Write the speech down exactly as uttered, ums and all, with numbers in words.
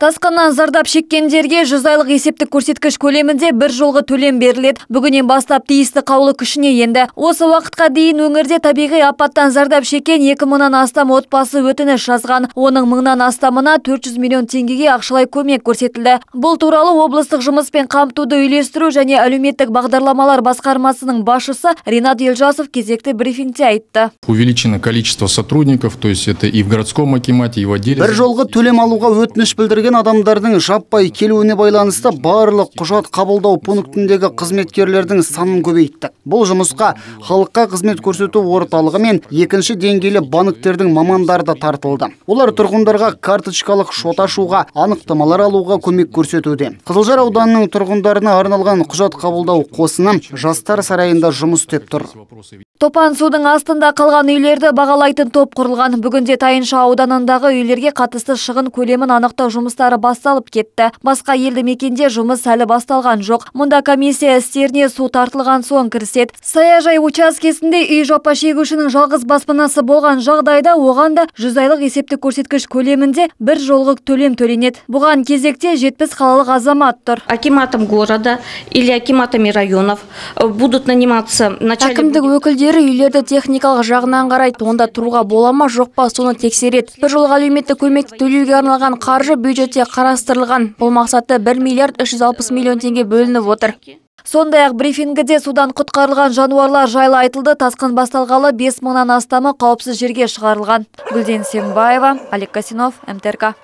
Тасқыннан зардап шеккендерге жүз айлық есептік көрсеткіш көлемінде бір жолғы төлем беріледі. Бүгіннен бастап тиісті қаулы күшіне енді. Осы уақытқа дейін өңірде табиғи апаттан зардап шеккен екі мыңнан астам отбасы өтініш жазған. Оның мыңнан астамына төрт жүз миллион теңгеге ақшалай көмек көрсетілді. Бұл туралы облыстық жұмыспен қамтуды үйлестіру және әлеуметтік бағдарламалар басқармасының басшысы Ринат Елжасов кезекті брифингте айтты. Увеличено количество сотрудников, то есть это и в городском акимате, и в отделе. Бір жолғы төлем алуға өтініш білдірген адамдардың жаппай келуіне байланысты барлық құжат қабылдау пунктіндегі қызметкерлердің санын көбейттік. Бұл жұмысқа халыққа қызмет көрсету орталығы мен екінші деңгейлі банктердің мамандары да тартылды. Олар тұрғындарға карточкалық шот ашуға, анықтамалар алуға көмек көрсетуде. Қызылжар ауданының тұрғындарына арналған құжат қабылдау қосыны жастар сарайында жұмыс істеп тұр. Топан судың астында қалған үйлерді бағалайтын топ құрылған. Бүгінде Тайынша ауданындағы үйлерге қатысты шығын көлемін анықтау жұмыстары басталып кетті. Басқа елді мекенде жұмыс әлі басталған жоқ. Мұнда комиссия істеріне су тартылған соң кіріседі. Саяжай учаскесінде үй жапа шегушінің жалғыз баспанасы болған жағдайда оған да жүз айлық есептік көрсеткіш көлемінде бір жолғы төлем төленеді. Бұған кезекте жетпіс қалалық азамат тұр. Акиматом города или акиматами районов будут наниматься начальник. Әкімдік өкілдері үйлерді техникалық жағынан қарайды, онда тұруға бола ма жоқ па соны тексереді. Бір жолғы әлеуметтік көмекті төлеуге арналған қаржы бюджетте қарастырылған. Бұл мақсатта бір миллиард үш жүз алпыс миллион теңге бөлініп отыр. Сондай-ақ брифингіде судан құтқарылған жануарлар жайлы айтылды. Тасқын басталғалы бес мыңнан астамы қауіпсіз жерге шығарылған. Гүлден Сембаева, Олег Касинов, МТРК.